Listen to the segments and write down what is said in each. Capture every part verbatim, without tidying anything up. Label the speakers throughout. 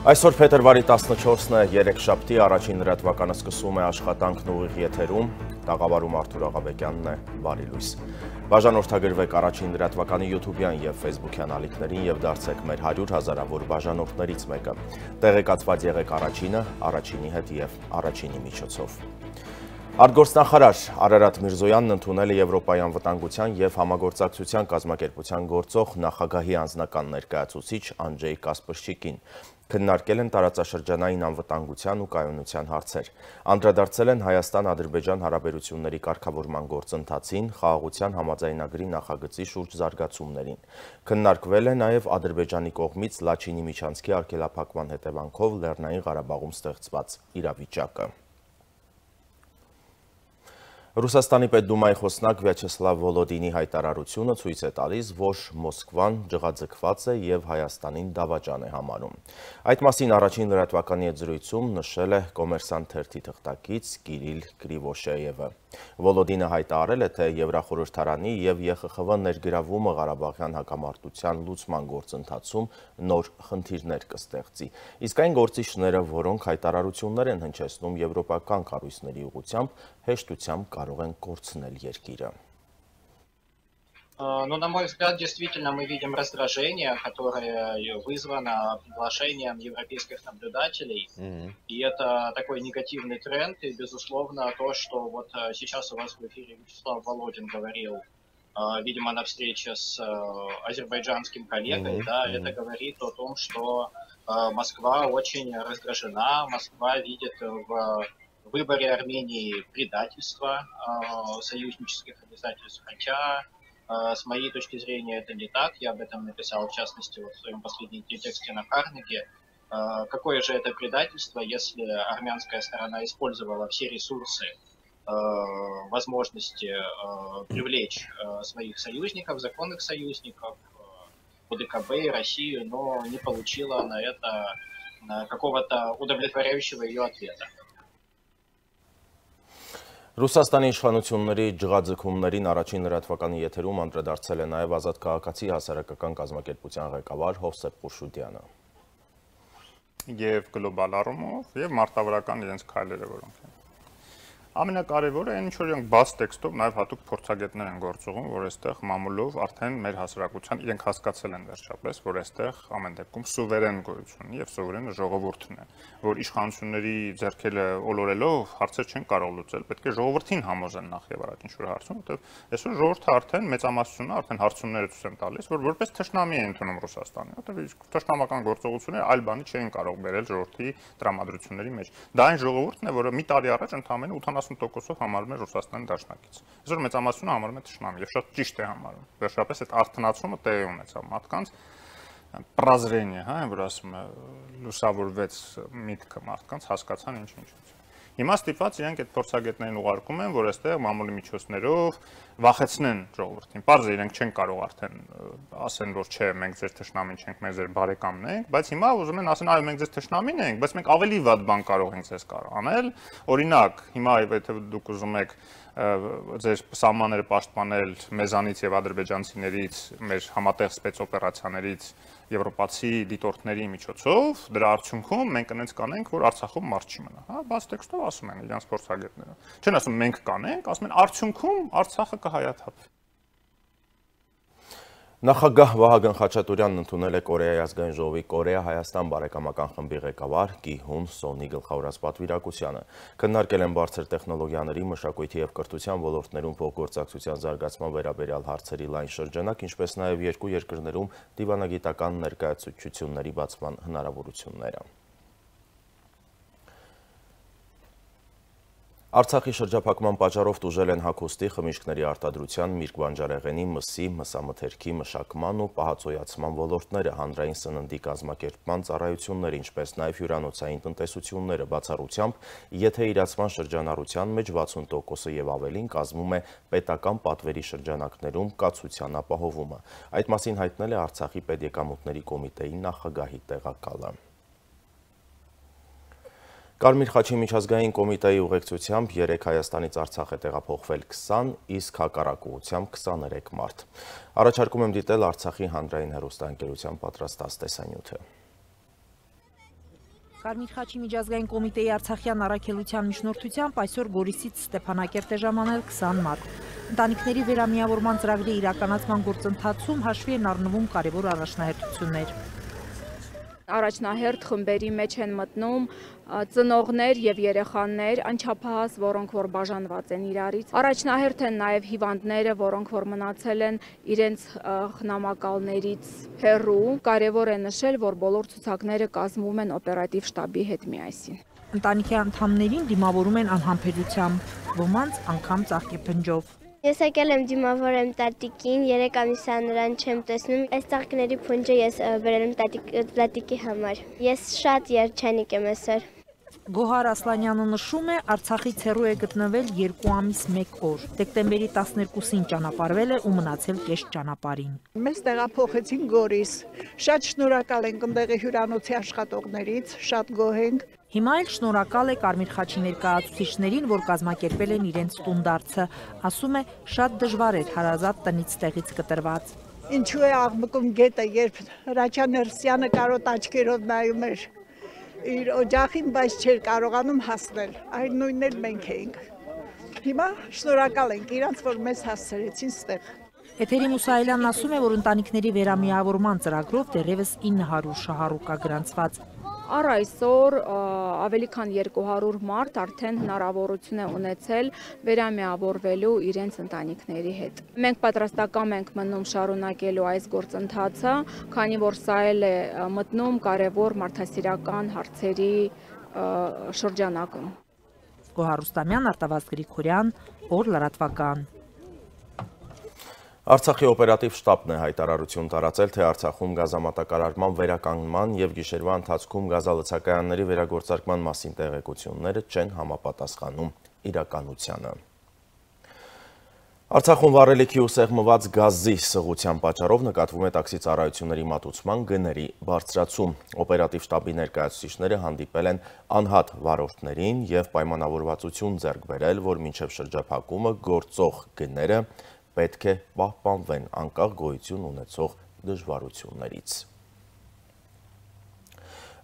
Speaker 1: Այսօր փետրվարի տասնչորսն է, երեքշաբթի, առաջին լրատվականը սկսում է աշխատանքն ուղիղ եթերում, տաղավարում Արթուր Աղաբեկյանն է, բարի լույս։ Բաժանորդագրվեք առաջին լրատվականի յութուբյան և ֆեյսբուքյան ալիքներին և դարձեք մեր հարյուր հազարավոր բաժանորդներից մեկը։ Տեղեկացված եղեք առաջինը, առաջինի հետ և առաջինի միջոցով։ Արտգործնախարար Արարատ Միրզոյանն ընդունել է Եվրոպայի անվտանգության և համագործակցության կազմակերպության գործող նախագահի անձնական ներկայացուցիչ Անջեյ Կասպրշիկին։ Քննարկել են տարածաշրջանային անվտանգության ու կայունության հարցեր։ Անդրադարձել են Հայաստան-Ադրբեջան հարաբերությունների կարգավորման գործընթացին, խաղաղության համաձայնագրի նախագծի շուրջ զարգացումներին։ Քննարկվել է նաև Ադրբեջանի կողմից Լաչինի միջանցքի արգելափակման հետևանքով Լեռնային Ղարաբաղում ստեղծված իրավիճակը։ Ռուսաստանի պետդումայի խոսնակ Վյաչեսլավ Վոլոդինի հայտարարությունը ցույց է տալիս, որ Մոսկվան ջղաձգված է և Հայաստանին դավաճան է համարում։ Այդ մասին առաջին լրատվականի հետ զրույցում նշել է Կոմերսանտ թերթի թղթակից Կիրիլ Կրիվոշեևը։ Վոլոդինը հայտարարել է, թե Եվրախորհրդարանի և ԵԽԽՎ ներգրավումը Ղարաբաղյան հակամարտության լուծման գործընթացում նոր խնդիրներ կստեղծի։ Իսկ այն գործիչները, որոնք հայտարարություններ են հնչեցնում եվրոպական կառույցների ուղղությամբ, հեշտությամբ կարող են կորցնել երկիրը։
Speaker 2: Ну, на мой взгляд, действительно мы видим раздражение, которое вызвано приглашением европейских наблюдателей. Mm-hmm. И это такой негативный тренд. И, безусловно, то, что вот сейчас у вас в эфире Вячеслав Володин говорил, видимо, на встрече с азербайджанским коллегой, mm-hmm. да, mm-hmm. это говорит о том, что Москва очень раздражена, Москва видит в выборе Армении предательство союзнических обязательств, хотя с моей точки зрения это не так, я об этом написал в частности вот в своем последнем тексте на Карнеге. Какое же это предательство, если армянская сторона использовала все ресурсы, возможности привлечь своих союзников, законных союзников, ОДКБ и Россию, но не получила на это какого-то удовлетворяющего ее ответа.
Speaker 1: Ռուսաստանի իշխանությունների ջղաձգումներին առաջին լրատվականի եթերում անդրադարձել է նաև Ազատ քաղաքացի հասարակական կազմակերպության ղեկավար Հովսեփ Խուրշուդյանը։
Speaker 3: Եվ գլոբալ առումով, եւ մարտավարական իրենց քայլերը, որոնք են։ Ամենակարևորը այն, ինչ որ իրենք բաց տեքստով նաև հատուկ փորձագետներ են գործողում, որ այստեղ մամուլով արդեն մեր հասարակության իրենք հասկացել են վերջապես, որ այստեղ ամեն դեպքում սուվերեն գոյություն ունի եւ սուվերենը ժողովուրդն է, որ իշխանությունների ձեռքերը ոլորելով հարցեր չեն կարող լուծել, պետք է ժողովրդին համոզեն նախ եւ առաջ ինչ որ հարցում, որտեղ այսօր ժողովուրդը արդեն մեծամասնությունը արդեն հարցումները ցույց են տալիս, որ որպես թշնամի է ընդունում Ռուսաստանը, որտեղ թշնամական գործողությունները այլ բանի չէին կարող բերել ժողովրդի տրամադրությունների մեջ։ Դա այն ժողովուրդն է, որը մի տարի առաջ ընդամենը ութանասուն տոկոսով համարում է Ռուսաստանի դաշնակից։ Այսօր մեծամասնությունը համարում է թշնամի եւ շատ ճիշտ է համարում։ Վերջապես այդ արթնացումը տեղի ունեցավ մարդկանց պրազրենիը, հա, որ ասում է լուսավորվեց միտքը մարդկանց, հասկացան ինչ-ինչ։ Հիմա ստիպված իրենք այդ փորձագետներին ուղարկում են, որ այստեղ մամուլի միջոցներով վախեցնեն ժողովրդին։ Պարզ է, իրենք չեն կարող արդեն ասեն, որ չէ, մենք ձեր թշնամին չենք, մենք ձեր բարեկամն ենք, բայց հիմա ուզում են ասեն, այո, մենք ձեր թշնամին ենք, բայց մենք ավելի վատ բան կարող ենք ձեզ անել։ Օրինակ, հիմա եթե դուք ուզում եք ձեր սահմանները պաշտպանել մեզանից եւ ադրբեջանցիներից, մեր համատեղ սպեցօպերացիաներից եվրոպացի դիտորդների միջոցով, դրա արդյունքում մենք այնպես կանենք, որ Արցախում մարդ չի մնա, հա, բաց տեքստով ասում են իրանց փորձագետները։ Չեն ասում մենք կանենք, ասում են արդյունքում Արցախը կհայաթափվի։
Speaker 1: Նախագահ Վահագն Խաչատուրյանն ընդունել է Կորեայի ազգային ժողովի Կորեա-Հայաստան բարեկամական խմբի ղեկավար Գիհուն Սոնի գլխավորած պատվիրակությանը։ Քննարկել են բարձր տեխնոլոգիաների, մշակույթի և կրթության ոլորտներում փոխգործակցության զարգացման վերաբերյալ հարցերի լայն շրջանակ, ինչպես նաև երկու երկրներում դիվանագիտական ներկայացուցչությունների բացման հնարավորությունները։ Արցախի շրջափակման պատճառով տուժել են հագուստի, խմիչքների արտադրության, միրգ-բանջարեղենի, մսի, մսամթերքի, մշակման ու պահածոյացման ոլորտները, հանրային սննդի կազմակերպման ծառայությունները, ինչպես նաև հյուրանոցային տնտեսությունները, բացառությամբ, եթե իրացման շրջանառության մեջ վաթսուն տոկոսը եւ ավելին կազմում է պետական պատվերի շրջանակներում կացության ապահովումը։ Այդ մասին հայտնել է Արցախի պետեկամուտների կոմիտեի նախագահի տեղակալը։ Կարմիր խաչի միջազգային կոմիտեի ուղեկցությամբ երեք Հայաստանից Արցախ է տեղափոխվել քսան, իսկ հակառակ ուղղությամբ քսաներեք մարդ։ Առաջարկում եմ դիտել Արցախի հանրային հեռուստաընկերության պատրաստած տեսանյութը։
Speaker 4: Կարմիր խաչի միջազգային կոմիտեի Արցախյան առաքելության միջնորդությամբ այսօր Գորիսից Ստեփանակերտ է ժամանել քսան մարդ։ Ընտանիքների վերամիավորման ծրագրի իրականացման գործընթացում հաշվի են առնվում կարևոր առաջնահերթություններ։
Speaker 5: Առաջնահերթ խմբերի մեջ են մտնում ծնողներ եւ երեխաներ, անչափահաս, որոնք որ բաժանված են իրարից։ Առաջնահերթ են նաեւ հիվանդները, որոնք որ մնացել են իրենց խնամակալներից հեռու։ Կարևոր է նշել, որ բոլոր ցուցակները կազմվում են օպերատիվ շտաբի հետ միասին։
Speaker 4: Ընտանիքի անդամներին դիմավորում են անհամբերությամբ, ոմանց անգամ ծաղկեփնջով։
Speaker 6: Ես եկել եմ դիմավորեմ տատիկին, երեք ամիս է նրան չեմ տեսնում։ Այս ծաղկների փունջը ես բերել եմ տատիկի համար։ Ես շատ երջանիկ եմ այսօր։
Speaker 4: Գոհար Ասլանյանը նշում է, Արցախից հեռու է գտնվել երկու ամիս մեկ օր։ Դեկտեմբերի տասներկուսին ճանապարհվել է ու մնացել կես ճանապարհին։
Speaker 7: Մեզ տեղափոխեցին Գորիս։ Շատ շնորհակալ ենք ընդեղի հյուրանոցի աշխատողներից, շատ գոհ ենք։
Speaker 4: Հիմա էլ շնորհակալ է Կարմիր խաչի ներկայացուցիչներին, որ կազմակերպել են իրենց տունդարձը։ Ասում է, շատ դժվար էր հարազատ տնից տեղից կտրված։
Speaker 7: Ինչու է աղմկում գետը, երբ Հրաչյա Ներսյանը կարոտ աչքերով նայում էր իր օջախին, բայց չէր կարողանում հասնել։ Այն նույնն էլ մենք էինք։ Հիմա շնորհակալ ենք իրանց, որ մեզ հասցրեցին ստեղ։
Speaker 4: Էթերի Մուսայելյանն ասում է, որ ընտանիքների վերամիավորման ծրագրով դեռևս ինը հարյուր շահառու կա գրանցված։
Speaker 5: Առ այսօր ավելի քան երկու հարյուր մարդ արդեն հնարավորություն է ունեցել վերամիավորվելու իրենց ընտանիքների հետ։ Մենք պատրաստական ենք մնում շարունակելու այս գործընթացը, քանի որ սա էլ է մտնում կարևոր մարդասիրական հարցերի շրջանակում։
Speaker 4: Գոհար Ռուստամյան, Արտավազդ Գրիգորյան, օր լրատվական։
Speaker 1: Արցախի օպերատիվ շտաբն է հայտարարություն տարածել, թե Արցախում գազամատակարարման վերականգնման և գիշերվա ընթացքում գազալցակայանների վերագործարկման մասին տեղեկությունները չեն համապատասխանում իրականությանը։ Արցախում վառելիքի ու սեղմված գազի սղության պատճառով նկատվում է տաքսի ծառայությունների մատուցման գների բարձրացում։ Օպերատիվ շտաբի ներկայացուցիչները հանդիպել են անհատ վարորդներին և պայմանավորվածություն ձեռք բերել, որ մինչև շրջափակումը գործող գները պետք է պահպանվեն անկախ գոյություն ունեցող դժվարություններից։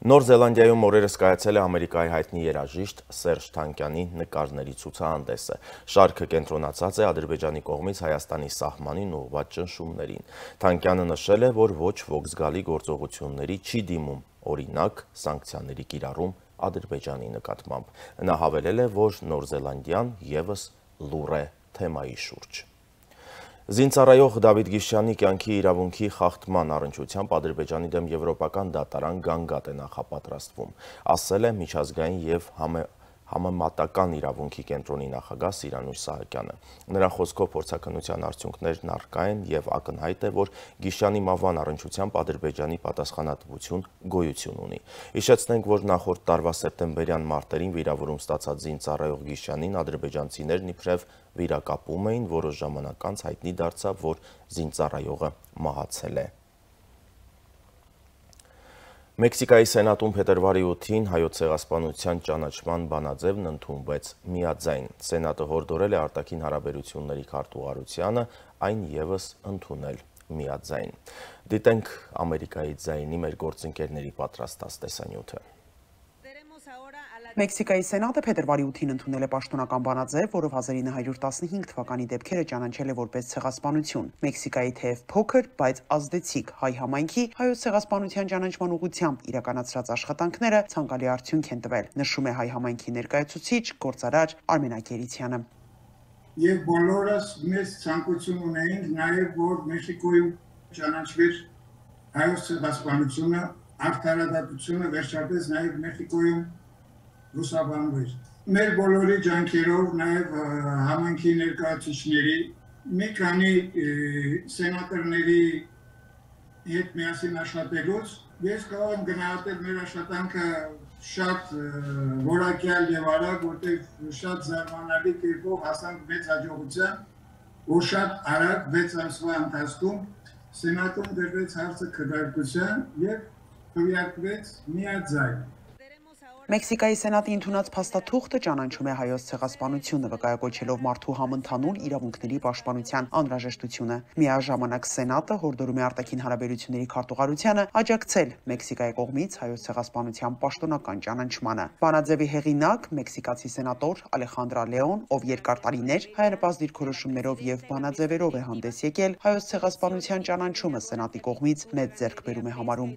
Speaker 1: Նոր Զելանդիայում օրերս կայացել է Ամերիկայի հայտնի երաժիշտ Սերժ Թանկյանի նկարների ցուցահանդեսը։ Շարքը կենտրոնացած է Ադրբեջանի կողմից Հայաստանի սահմանին ուղղված ճնշումներին։ Թանկյանը նշել է, որ ոչ ոք զգալի գործողությունների չի դիմում, օրինակ սանկցիաների կիրառում Ադրբեջանի նկատմամբ։ Նա հավելել է, որ Նոր Զելանդիան ևս լուռ է թեմայի շուրջ։ Զինծառայող Դավիթ Գիշյանի կյանքի իրավունքի խախտման առնչությամբ Ադրբեջանի դեմ եվրոպական դատարան գանգատ է նախապատրաստվում, ասել է միջազգային և համեմատական իրավունքի կենտրոնի նախագահ Սիրանուշ Սահակյանը։ Նրա խոսքով փորձաքննության արդյունքներն առկա են և ակնհայտ է, որ Գիշյանի մահվան առնչությամբ Ադրբեջանի պատասխանատվություն գոյություն ունի։ Հիշեցնենք, որ նախորդ տարվա սեպտեմբերյան մարտերին վիրավորում ստացած զինծառայող Գիշյանին ադրբեջանցիներն իբրև վիրակապում էին, որոշ ժամանակ անց հայտնի դարձավ, որ զինծառայողը մահացել է։ Մեքսիկայի սենատում փետրվարի ութին հայոց ցեղասպանության ճանաչման բանաձևն ընդունվեց միաձայն։ Սենատը հորդորել է արտաքին հարաբերությունների քարտուղարությանը այն ևս ընդունել միաձայն։ Դիտենք Ամերիկայի ձայնի մեր գործընկերների պատրաստած տեսանյութը։
Speaker 8: Մեքսիկայի սենատը փետրվարի ութին ընդունել է պաշտոնական բանաձև, որով հազար ինը հարյուր տասնհինգ թվականի դեպքերը ճանաչել է որպես ցեղասպանություն։ Մեքսիկայի թեև փոքր, բայց ազդեցիկ հայ համայնքի հայոց ցեղասպանության ճանաչման ուղղությամբ իրականացրած աշխատանքները ցանկալի արդյունք են տվել, նշում է հայ համայնքի ներկայացուցիչ, գործարար Արմեն Ակերիցյանը։
Speaker 9: Եվ բոլորս մեծ ցանկություն ունեինք նաև, որ Մեքսիկոյում ճանաչվեր հայոց ցեղասպանությունը, արդարադատությունը վերջապես նաև Մեքսիկոյում լուսաբանվեր։ Մեր բոլորի ջանքերով, նաև համայնքի ներկայացուցիչների, մի քանի սենատորների հետ միասին աշխատելուց, ես կարող եմ գնահատել մեր աշխատանքը շատ որակյալ եւ արագ, որտեղ շատ զարմանալի կերպով հասանք մեծ հաջողության, որ շատ արագ վեց ամսվա ընթացքում սենատում դրվեց հարցը քննարկության եւ քվեարկվեց միաձայն։
Speaker 8: Մեքսիկայի սենատի ընդունած փաստաթուղթը ճանաչում է հայոց ցեղասպանությունը, վկայակոչելով մարդու համընդհանուր իրավունքների պաշտպանության անհրաժեշտությունը։ Միաժամանակ սենատը հորդորում է արտաքին հարաբերությունների քարտուղարությանը աջակցել Մեքսիկայի կողմից հայոց ցեղասպանության պաշտոնական ճանաչմանը։ Բանաձևի հեղինակ մեքսիկացի սենատոր Ալեխանդրա Լեոն, ով երկար տարիներ հայանպաստ դիրքորոշումներով եւ բանաձևերով է հանդես եկել, հայոց ցեղասպանության ճանաչումը սենատի կողմից մեծ ձեռքբերում է համարում։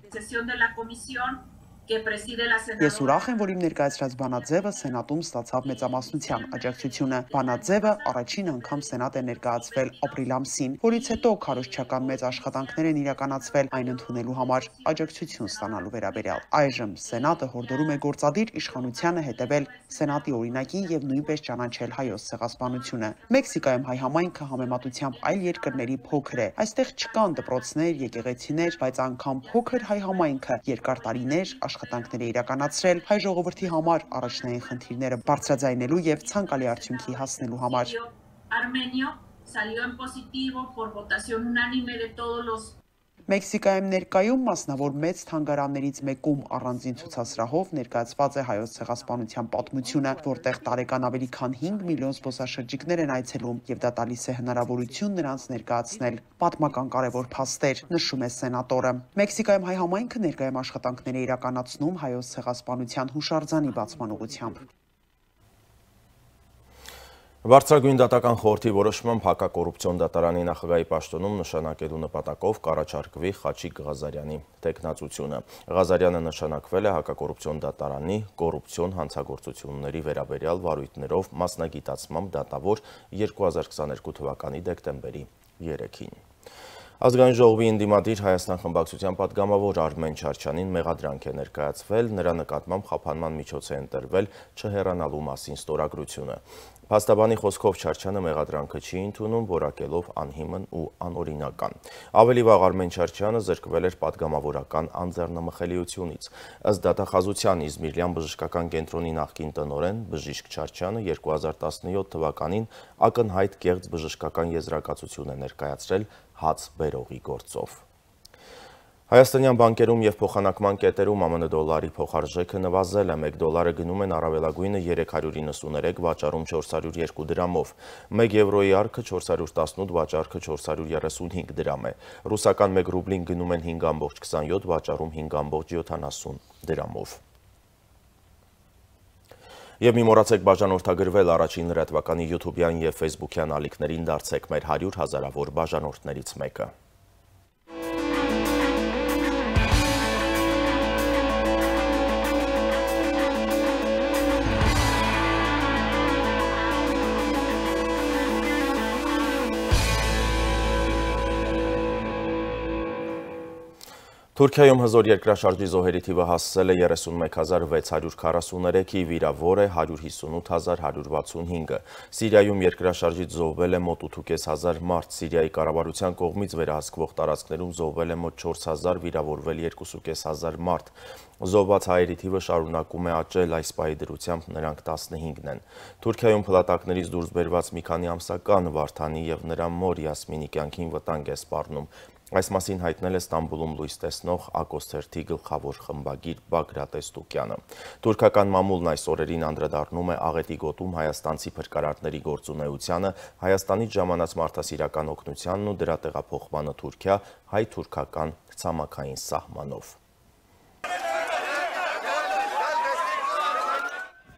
Speaker 8: Ես ուրախ եմ, որ իմ ներկայացրած բանաձևը սենատում ստացավ մեծամասնության աջակցությունը։ Բանաձևը առաջին անգամ սենատ է ներկայացվել ապրիլ ամսին, որից հետո քարոզչական մեծ աշխատանքներ են իրականացվել այն ընդունելու համար աջակցություն ստանալու վերաբերյալ։ Այժմ սենատը հորդորում է գործադիր իշխանությանը հետևել սենատի օրինակին եւ նույնպես ճանաչել հայոց ցեղասպանությունը։ Մեքսիկայում հայ համայնքը համեմատությամբ այլ երկրների փոքր է։ Այստեղ չկան դպրոցներ, եկեղեցիներ, բայց անգամ փոքր հայ համայնքը երկար տարիներ աշխատանքներ է իրականացրել հայ ժողովրդի համար առաջնային խնդիրները բարձրաձայնելու եւ ցանկալի արդյունքի հասնելու համար։ Մեքսիկայում ներկայում մասնավոր մեծ թանգարաններից մեկում առանձին ցուցասրահով ներկայացված է հայոց ցեղասպանության պատմությունը, որտեղ տարեկան ավելի քան հինգ միլիոն զբոսաշրջիկներ են այցելում եւ դա տալիս է հնարավորություն նրանց ներկայացնել պատմական կարևոր փաստեր, նշում է սենատորը։ Մեքսիկայում հայ համայնքը ներկայում աշխատանքներ է իրականացնում հայոց ցեղասպանության հուշարձանի բացման ուղղությամբ։
Speaker 1: Բարձրագույն դատական խորհրդի որոշմամբ հակակոռուպցիոն դատարանի նախագահի պաշտոնում նշանակելու նպատակով կառաջարկվի Խաչիկ Ղազարյանի տեխնացությունը։ Ղազարյանը նշանակվել է հակակոռուպցիոն դատարանի կոռուպցիոն հանցագործությունների վերաբերյալ վարույթներով մասնագիտացմամբ դատավոր երկու հազար քսաներկու թվականի դեկտեմբերի երեքին։ Ազգային ժողովի ընդդիմադիր Հայաստան խմբակցության պատգամավոր Արմեն Չարչյանին մեղադրանք է ներկայացվել, նրա նկատմամբ խափանման միջոց է ընտրվել չհեռանալու մասին ստորագրությունը։ Փաստաբանի խոսքով Չարչյանը մեղադրանքը չի ընդունում, որակելով անհիմն ու անօրինական։ Ավելի վաղ Արմեն Չարչյանը զրկվել էր պատգամավորական անձեռնմխելիությունից։ Ըստ դատախազության Իզմիրյան բժշկական կենտրոնի նախկին տնօրեն բժիշկ Չարչյանը երկու հազար տասնյոթ թվականին ակնհայտ կեղծ բժշկական եզրակացություն է ներկայացրել հաց բերողի գործով։ Հայաստանյան բանկերում և փոխանակման կետերում ԱՄՆ դոլարի փոխարժեքը նվազել է, մեկ դոլարը գնում են առավելագույնը երեք հարյուր իննսուներեք, վաճառում չորս հարյուր երկու դրամով, մեկ եվրոյի արքը չորս հարյուր տասնութ, վաճառքը չորս հարյուր երեսունհինգ դրամ է, ռուսական մեկ ռուբլին գնում են հինգ կoma քսանյոթ, վաճառում հինգ կoma յոթանասուն դրամով։ Եվ մի մոռացեք բաժանորդագրվել առաջին լրատվականի յութուբյան և ֆեյսբուքյան ալիքներին, դարձեք մեր հարյուր հազարավոր բաժանորդներից մեկը։ Թուրքիայում հզոր երկրաշարժի զոհերի թիվը հասել է երեսունմեկ հազար վեց հարյուր քառասուներեքի, վիրավոր է հարյուր հիսունութ հազար հարյուր վաթսունհինգը։ Սիրիայում երկրաշարժից զոհվել է մոտ ութ կես հազար մարդ, Սիրիայի կառավարության կողմից վերահսկվող տարածքներում զոհվել է մոտ չորս հազար, վիրավորվել երկու կես հազար մարդ։ Զոհված հայերի թիվը շարունակում է աճել, այս պահի դրությամբ նրանք տասնհինգն են։ Թուրքիայում փլատակներից դուրս բերված մի քանի ամսական Վարդանի եւ նրա մոր Յասմինի կյանքին վտանգ է սպառնում։ Այս մասին հայտնել է Ստամբուլում լույս տեսնող Ակոս թերթի գլխավոր խմբագիր Բագրատ Էստուկյանը։ Թուրքական մամուլն այս օրերին անդրադառնում է աղետի գոտում հայաստանցի փրկարարների գործունեությանը, Հայաստանից ժամանած մարդասիրական օգնությանն ու դրա տեղափոխմանը Թուրքիա հայ-թուրքական ցամաքային սահմանով։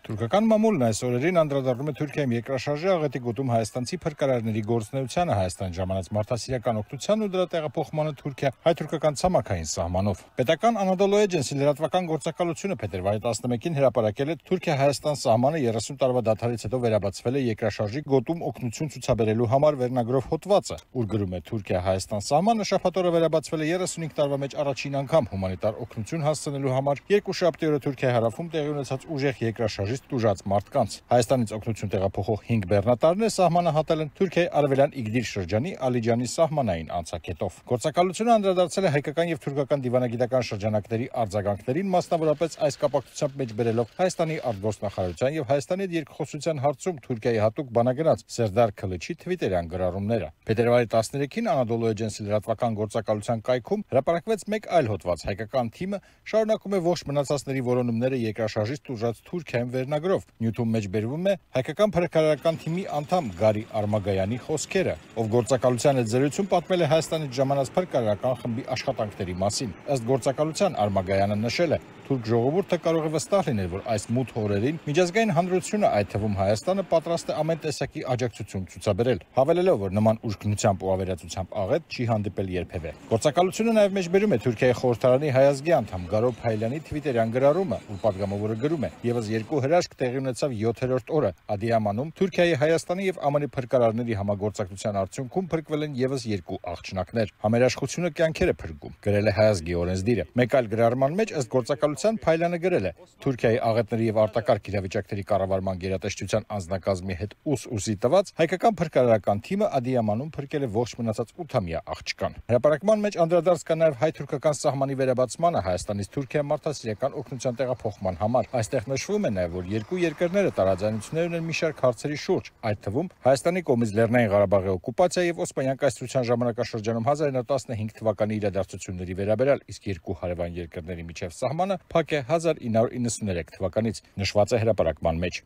Speaker 10: Թուրքական մամուլն այս օրերին անդրադառնում է Թուրքիայում երկրաշարժի աղետի գոտում հայաստանցի փրկարարների գործունեությանը, Հայաստան ժամանած մարդասիրական օգնությանն ու դրա տեղափոխմանը Թուրքիա հայ-թուրքական ցամաքային սահմանով։ Պետական Anadolu Agency լրատվական գործակալությունը փետրվարի տասնմեկին հրապարակել է Թուրքիա-Հայաստան սահմանը երեսուն տարվա դադարից հետո վերաբացվել է երկրաշարժի գոտում օգնություն ցուցաբերելու համար վերնագրով հոդվածը, ուր գրում է Թուրքիա-Հայաստան սահմանը շաբաթօրը վերաբացվել է երեսունհինգ տարվա մեջ առաջին անգամ հումանիտար օգնություն հասցնելու համար երկուշաբթի օրը Թուրքիայի հարավում տեղի ունեցած ուժեղ երկրաշարժի երկրաշարժից տուժած մարդկանց։ Հայաստանից օգնություն տեղափոխող հինգ բեռնատարներ սահմանը հատել են Թուրքիայի արևելյան Իգդիր շրջանի Ալիջանի սահմանային անցակետով։ Գործակալությունը անդրադարձել է հայկական եւ թուրքական դիվանագիտական շրջանակների արձագանքներին, մասնավորապես այս կապակցությամբ մեջ բերելով Հայաստանի արտգործնախարարության եւ Հայաստանի հետ երկխոսության հարցում Թուրքիայի հատուկ բանագնաց Սերդար Քլիչի թվիտերյան գրառումները։ Փետրվարի տասներեքին Anadolu Agency լրատվական գործակալության կայքում հրապարակվեց մեկ այլ հոդված։ Հայկական թիմը շարունակում է ողջ մնացածների որոնումները երկրաշարժից տուժած Թուրքիայում վերնագրով։ Նյութում մեջ բերվում է հայկական փրկարարական թիմի անդամ Գարի Արմագայանի խոսքերը, ով գործակալության հետ զրույցում պատմել է Հայաստանից ժամանած փրկարարական խմբի աշխատանքների մասին։ Ըստ գործակալության Արմագայանը նշել է, թուրք ժողովուրդը կարող է վստահ լինել, որ այս մութ օրերին միջազգային հանրությունը, այդ թվում Հայաստանը, պատրաստ է ամեն տեսակի աջակցություն ցուցաբերել, հավելելով, որ նման ուշքնությամբ ու ավերածությամբ աղետ չի հանդիպել երբևէ։ Գործակալությունը նաև մեջբերում է Թուրքիայի խորհրդարանի հայազգի անդամ Գարո Փայլյանի թվիտերյան գրառումը, որ պատգամավորը գրում է. «Եվս երկու հրաշք տեղի ունեցավ յոթերորդ օրը Ադիամանում Թուրքիայի, Հայաստանի եւ ԱՄՆ փրկարարների համագործակցության արդյունքում փրկվել են եւս երկու աղջնակներ։ Համերաշխությունը կյանքեր է փրկում», գրել է հայազգի օրենսդիրը։ Մեկ այլ գրառման մեջ ըստ գործակալության Փայլյանը գրել է. «Թուրքիայի աղետների եւ արտակարգ իրավիճակների կառավարման գերատեսչության անձնակազմի հետ ուս-ուսի տված հայկական փրկարարական թիմը Ադիամանում փրկել է ողջ մնացած ութամյա աղջկան»։ Հրապարակման մեջ անդրադարձ կա նաեւ հայ-թուրքական սահմանի վերաբացմանը Հայաստանից Թուրքիա մարդասիրական օգնության տեղափոխման համար։ Այստեղ նշվում է նաեւ, որ երկու երկրները տարաձայնություններ ունեն մի շարք հարցերի շուրջ, այդ թվում Հայաստանի կողմից Լեռնային Ղարաբաղի օկուպացիա եւ Օսմանյան կայսրության ժամանակաշրջանում հազար իննսուն տասնհինգ թվականի իրադարձությունների վերաբերյալ, իսկ երկու հարևան երկրների միջև սահմանը փակ է հազար ինը հարյուր իննսուներեք թվականից, նշված է հրապարակման մեջ։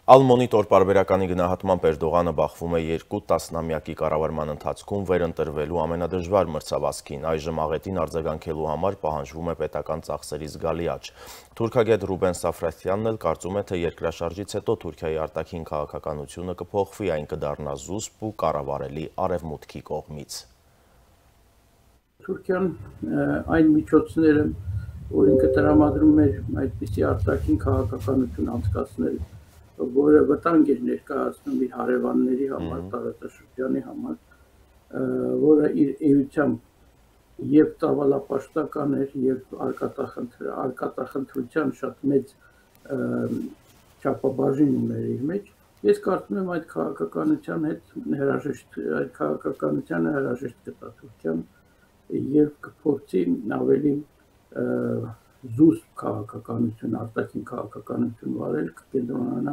Speaker 1: Ալ-Մոնիտոր պարբերականի գնահատմամբ Էրդողանը բախվում է երկու տասնամյակի կառավարման ընթացքում վերընտրվելու ամենադժվար մրցավազքին։ Այժմ աղետին արձագանքելու համար պահանջվում է պետական ծախսերի զգալի աճ։ Թուրքագետ Ռուբեն Սաֆրատյանն էլ կարծում է, թե երկրաշարժից հետո Թուրքիայի արտաքին քաղաքականությունը կփոխվի, այն կդառնա զուսպ ու կառավարելի արևմուտքի կողմից։
Speaker 11: Թուրքիան այն միջոցները, որ ինքը տրամադրում էր այդպիսի արտաքին քաղաքականություն անցկացնել, որը վտանգ էր ներկայացնում իր հարևանների համար, տարածաշրջանի համար, որը իր էությամբ եւ ծավալապաշտական էր եւ արկածախնդրության շատ մեծ չափաբաժին ուներ իր մեջ։ Ես կարծում եմ այդ քաղաքականության հետ հրաժեշտ այդ քաղաքականությանը հրաժեշտ կտա Թուրքիան եւ կփորձի ավելի զուսպ քաղաքականություն, արտաքին քաղաքականություն վարել, կկենտրոնանա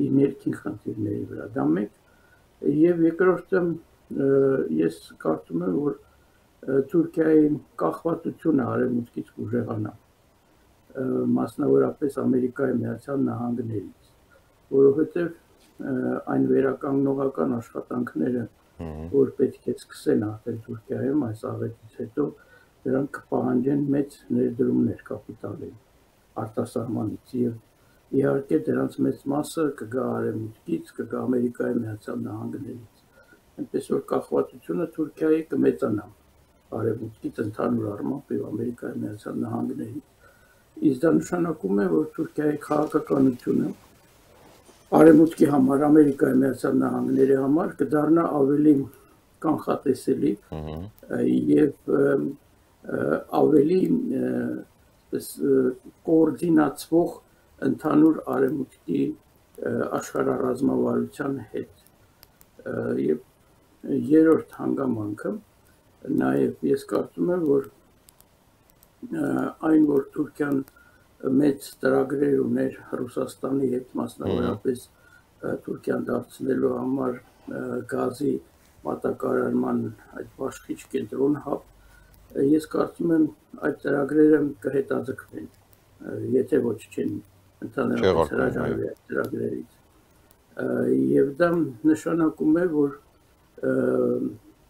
Speaker 11: իր ներքին խնդիրների վրա։ Դա մեկ եւ երկրորդը ես կարծում եմ, որ Թուրքիայի կախվածությունը արևմուտքից կուժեղանա, մասնավորապես Ամերիկայի Միացյալ Նահանգներից, որովհետեւ այն վերականգնողական աշխատանքները, որ պետք է սկսեն արդեն Թուրքիայում այս աղետից հետո, դրանք կպահանջեն մեծ ներդրումներ կապիտալի արտասահմանից եւ իհարկե դրանց մեծ մասը կգա արևմուտքից, կգա Ամերիկայի Միացյալ Նահանգներից։ Այնպես որ կախվածությունը Թուրքիայի կմեծանա արևմուտքից ընդհանուր առմամբ եւ Ամերիկայի Միացյալ Նահանգներից։ Իսկ դա նշանակում է, որ Թուրքիայի քաղաքականությունը արևմուտքի համար, Ամերիկայի Միացյալ Նահանգների համար կդառնա ավելի կանխատեսելի եւ ավելի կոորդինացվող ընդհանուր արևմուտքի աշխարհառազմավարության հետ։ Եվ երրորդ հանգամանքը նաև ես կարծում եմ, որ այն, որ Թուրքիան մեծ ծրագրեր ուներ Ռուսաստանի հետ, մասնավորապես Թուրքիան դարձնելու համար գազի մատակարարման այդ բաշխիչ կենտրոն հապ, ես կարծում եմ այդ ծրագրերը կհետաձգվեն, եթե ոչ չեն ընդհանրապես հրաժարվի այդ ծրագրերից։ Եվ դա նշանակում է, որ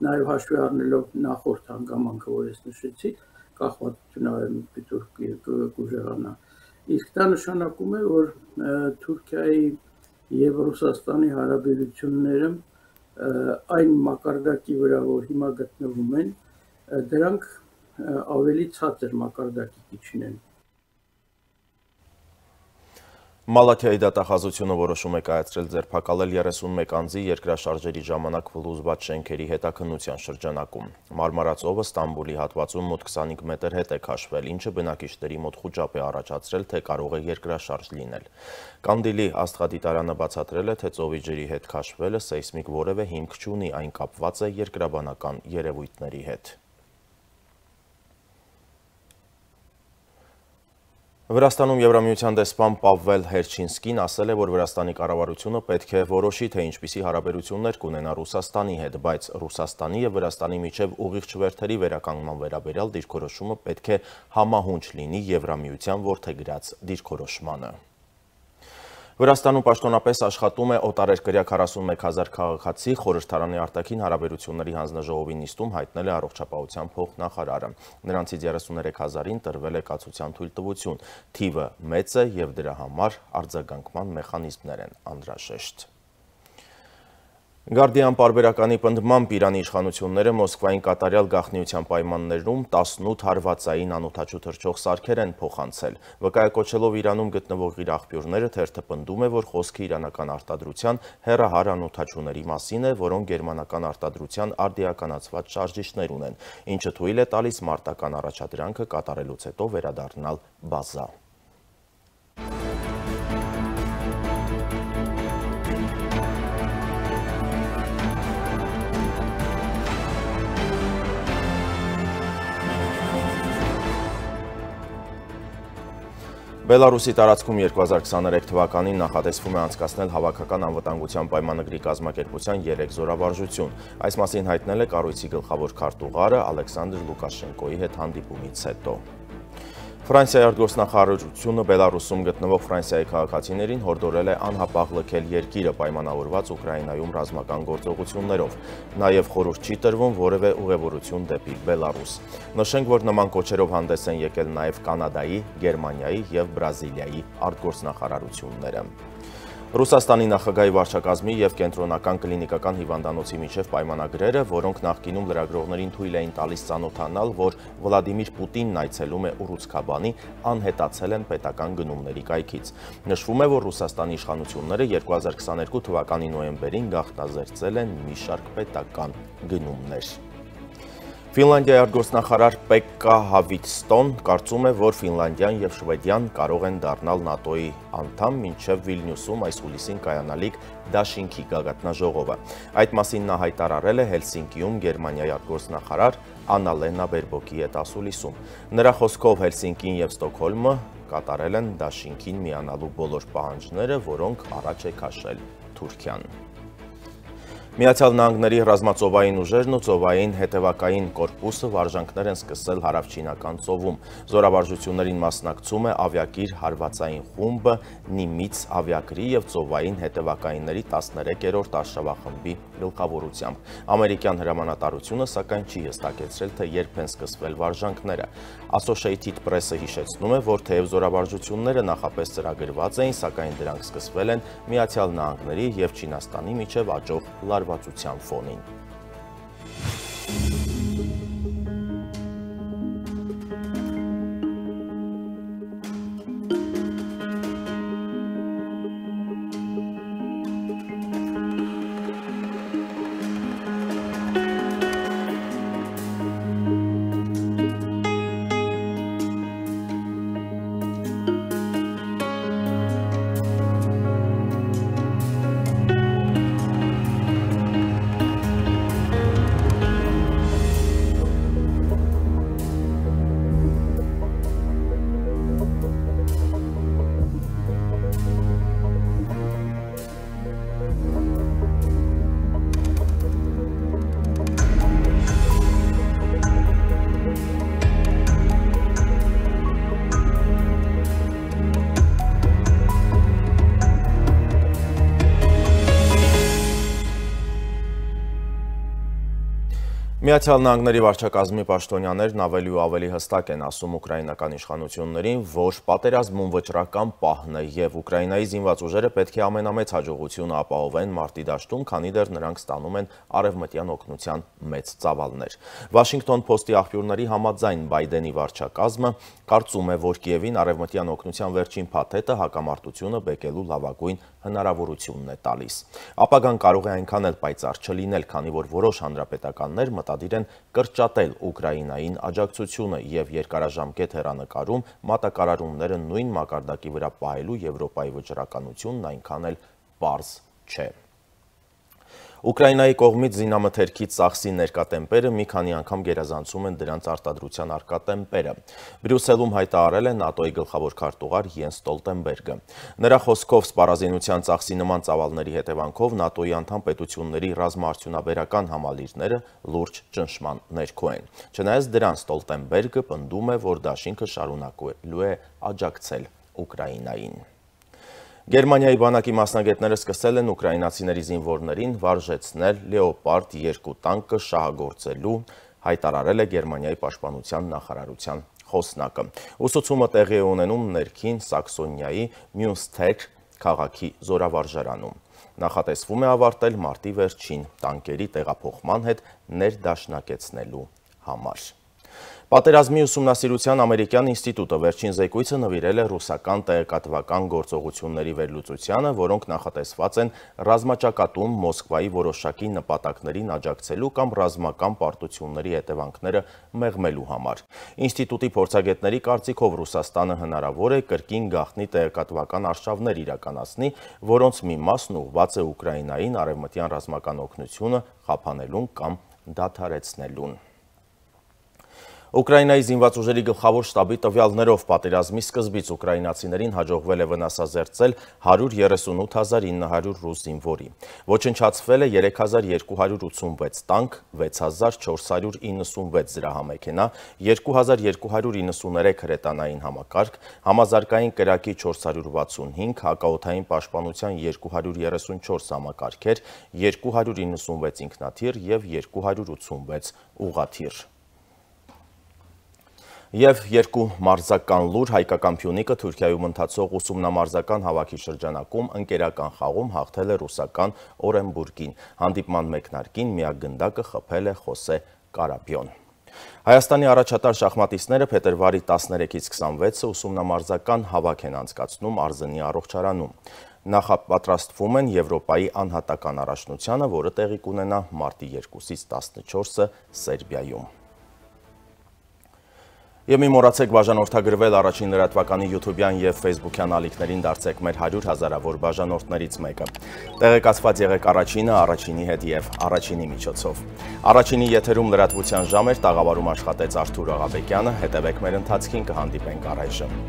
Speaker 11: նաև հաշվի առնելով նախորդ հանգամանքը, որ ես նշեցի, կախվածությունը արևմուտքի կուժեղանա։ Իսկ դա նշանակում է, որ Թուրքիայի եւ Ռուսաստանի հարաբերությունները այն մակարդակի վրա, որ հիմա գտնվում են, դրանք ավելի ցածր մակարդակի կիջնեն։
Speaker 1: Մալաքիայի դատախազությունը որոշում է կայացրել ձերբակալել երեսունմեկ անձի երկրաշարժերի ժամանակ փլուզված շենքերի հետաքննության շրջանակում։ Մարմարացովը Ստամբուլի հատվածում մոտ քսանհինգ մետր հետ է քաշվել, ինչը բնակիչների մոտ խուճապ է առաջացրել, թե կարող է երկրաշարժ լինել։ Կանդիլի աստղադիտարանը բացատրել է, թե ծովի ջրի հետ քաշվելը սեյսմիկ որևէ հիմք չունի, այն կապված է երկրաբանական երևույթների հետ։ Վրաստանում Եվրամիության դեսպան Պավվել Հերչինսկին ասել է, որ Վրաստանի կառավարությունը պետք է որոշի, թե ինչպիսի հարաբերություններ կունենա Ռուսաստանի հետ, բայց Ռուսաստանի և Վրաստանի միջև ուղիղ չվերթերի վերականգնման վերաբերյալ դիրքորոշումը պետք է համահունչ լինի Եվրամիության որդեգրած դիրքորոշմանը։ Վրաստանում պաշտոնապես աշխատում է օտարերկրյա քառասունմեկ հազար քաղաքացի, խորհրդարանի արտաքին հարաբերությունների հանձնաժողովի նիստում հայտնել է առողջապահության փոխնախարարը։ Նրանցից երեսուներեք հազարին տրվել է կացության թույլտվություն, թիվը մեծ է և դրա համար արձագանքման մեխանիզմներ են անհրաժեշտ։ Գարդիան պարբերականի պնդմամբ Իրանի իշխանությունները Մոսկվային կատարյալ գաղտնիության պայմաններում տասնութ հարվածային անօդաչու թռչող սարքեր են փոխանցել։ Վկայակոչելով Իրանում գտնվող իր աղբյուրները, թերթը պնդում է, որ խոսքը իրանական արտադրության հեռահար անօդաչուների մասին է, որոնք գերմանական արտադրության արդիականացված շարժիչներ ունեն, ինչը թույլ է տալիս մարտական առաջադրանքը կատարելուց հետո վերադառնալ բազա։ Բելարուսի տարածքում երկու հազար քսաներեք թվականին նախատեսվում է անցկացնել հավաքական անվտանգության պայմանագրի կազմակերպության երեք զորավարժություն։ Այս մասին հայտնել է կառույցի գլխավոր քարտուղարը Ալեքսանդր Լուկաշենկոյի հետ հանդիպումից հետո։ Ֆրանսիայի արտգործնախարարությունը Բելարուսում գտնվող Ֆրանսիայի քաղաքացիներին հորդորել է անհապաղ լքել երկիրը պայմանավորված Ուկրաինայում ռազմական գործողություններով։ Նաև խորհուրդ չի տրվում որևէ ուղևորություն դեպի Բելարուս։ Նշենք, որ նման կոչերով հանդես են եկել նաև Կանադայի, Գերմանիայի և Բրազիլիայի արտգործնախարարությունները։ Ռուսաստանի նախագահի վարչակազմի և կենտրոնական կլինիկական հիվանդանոցի միջև պայմանագրերը, որոնք նախկինում լրագրողներին թույլ էին տալիս ծանոթանալ, որ Վլադիմիր Պուտինն այցելում է Ուռուցքաբանի, անհետացել են պետական գնումների կայքից։ Նշվում է, որ Ռուսաստանի իշխանությունները երկու հազար քսաներկու թվականի նոյեմբերին գաղտնազերծել են մի շարք պետական գնումներ։ Ֆինլանդիայի արտգործնախարար Պեկկա Հավիցստոն կարծում է, որ Ֆինլանդիան և Շվեդիան կարող են դառնալ ՆԱՏՕ-ի անդամ մինչև Վիլնյուսում այս հուլիսին կայանալիք դաշինքի գագաթնաժողովը։ Այդ մասին նա հայտարարել է Հելսինկիում Գերմանիայի արտգործնախարար Աննալենա Բերբոկի հետ ասուլիսում։ Նրա խոսքով Հելսինկին և Ստոկհոլմը կատարել են դաշինքին միանալու բոլոր պահանջները, որոնք առաջ է քաշել Թուրքիան։ Միացյալ Նահանգների ռազմածովային ուժերն ու ծովային հետևակային կորպուսը վարժանքներ են սկսել հարավչինական ծովում։ Զորավարժություններին մասնակցում է ավիակիր հարվածային խումբը Նիմից ավիակրի և ծովային հետևակայինների տասներեքերորդ արշավախմբի գլխավորությամբ։ Ամերիկյան հրամանատարությունը սակայն չի հստակեցրել, թե երբ են սկսվել վարժանքները։ Associated Press-ը հիշեցնում է, որ թեև զորավարժությունները նախապես ծրագրված էին, սակայն դրանք սկսվել են Միացյալ Նահանգների և Չինաստանի միջև աճող լարվածության ֆոնին։ Միացյալ Նահանգների վարչակազմի պաշտոնյաներն ավելի ու ավելի հստակ են ասում ուկրաինական իշխանություններին, որ պատերազմում վճռական պահն է և Ուկրաինայի զինված ուժերը պետք է ամենամեծ հաջողությունը ապահովեն մարտի դաշտում, քանի դեռ նրանք ստանում են արևմտյան օգնության մեծ ծավալներ։ Վաշինգտոն Փոստի աղբյուրների համաձայն Բայդենի վարչակազմը կարծում է, որ Կիևին արևմտյան օգնության վերջին փաթեթը հակամարտությունը բեկելու լավագույն հնարավորությունն է տալիս։ Ապագան կարող է այնքան էլ պայծառ չլինել, քանի որ որոշ հանրապետականներ մտադիր են կրճատել Ուկրաինային աջակցությունը և երկարաժամկետ հեռանկարում մատակարարումները նույն մակարդակի վրա պահելու Եվրոպայի վճռականությունն այնքան էլ պարզ չէ։ Ուկրաինայի կողմից զինամթերքի ծախսի ներկա տեմպերը մի քանի անգամ գերազանցում են դրանց արտադրության առկա տեմպերը։ Բրյուսելում հայտարարել է ՆԱՏՕ-ի գլխավոր քարտուղար Յենս Ստոլտենբերգը։ Նրա խոսքով սպառազինության ծախսի նման ծավալների հետևանքով ՆԱՏՕ-ի անդամ պետությունների ռազմաարդյունաբերական համալիրները լուրջ ճնշման ներքո են։ Չնայած դրան Ստոլտենբերգը պնդում է, որ դաշինքը շարունակելու է աջակցել Ուկրաինային։ Գերմանիայի բանակի մասնագետները սկսել են ուկրաինացիների զինվորներին վարժեցնել Լեոպարդ երկու տանկը շահագործելու, հայտարարել է Գերմանիայի պաշտպանության նախարարության խոսնակը։ Ուսուցումը տեղի է ունենում ներքին Սաքսոնիայի Մյունստեր քաղաքի զորավարժարանում։ Նախատեսվում է ավարտել մարտի վերջին տանկերի տեղափոխման հետ ներդաշնակեցնելու համար։ Պատերազմի ուսումնասիրության ամերիկյան ինստիտուտը վերջին զեկույցը նվիրել է ռուսական տեղեկատվական գործողությունների վերլուծությանը, որոնք նախատեսված են ռազմաճակատում Մոսկվայի որոշակի նպատակներին աջակցելու կամ ռազմական պարտությունների հետևանքները մեղմելու համար։ Ինստիտուտի փորձագետների կարծիքով Ռուսաստանը հնարավոր է կրկին գաղտնի տեղեկատվական արշավներ իրականացնի, որոնց մի մասն ուղղված է Ուկրաինային արևմտյան ռազմական օգնությունը խափանելուն կամ դադարեցնելուն։ Ուկրաինայի զինված ուժերի գլխավոր շտաբի տվյալներով պատերազմի սկզբից ուկրաինացիներին հաջողվել է վնասազերծել հարյուր երեսունութ հազար ինը հարյուր ռուս զինվորի։ Ոչնչացվել է երեք հազար երկու հարյուր ութսունվեց տանկ, վեց հազար չորս հարյուր իննսունվեց զրահամեքենա, երկու հազար երկու հարյուր իննսուներեք հրետանային համակարգ, համազարգային կրակի չորս հարյուր վաթսունհինգ, հակաօդային պաշտպանության երկու հարյուր երեսունչորս համակարգեր, երկու հարյուր իննսունվեց ինքնաթիռ և երկու հարյուր ութսունվեց ուղղաթիռ։ Եվ երկու մարզական լուր հայկական Փյունիկը Թուրքիայում ընթացող ուսումնամարզական հավաքի շրջանակում ընկերական խաղում հաղթել է ռուսական Օրենբուրգին։ Հանդիպման մեկնարկին միակ գնդակը խփել է Խոսե Կարապյոն։ Հայաստանի առաջատար շախմատիստները փետրվարի տասներեքից քսանվեցը ուսումնամարզական հավաք են անցկացնում Արզենի առողջարանում։ Նախապատրաստվում են Եվրոպայի անհատական առաջնությանը, որը տեղի կունենա մարտի երկուսից տասնչորսը Սերբիայում։ Եվ մի մոռացեք բաժանորդագրվել առաջին լրատվականի յութուբյան և ֆեյսբուքյան ալիքներին դարձեք մեր հարյուր հազարավոր բաժանորդներից մեկը։ Տեղեկացված եղեք առաջինը առաջինի հետ և առաջինի միջոցով։ Առաջինի եթերում լրատվության ժամ էր, տաղավարում աշխատեց Արթուր Աղաբեկյանը, հետևեք մեր ընթացքին, կհանդիպենք առայժմ։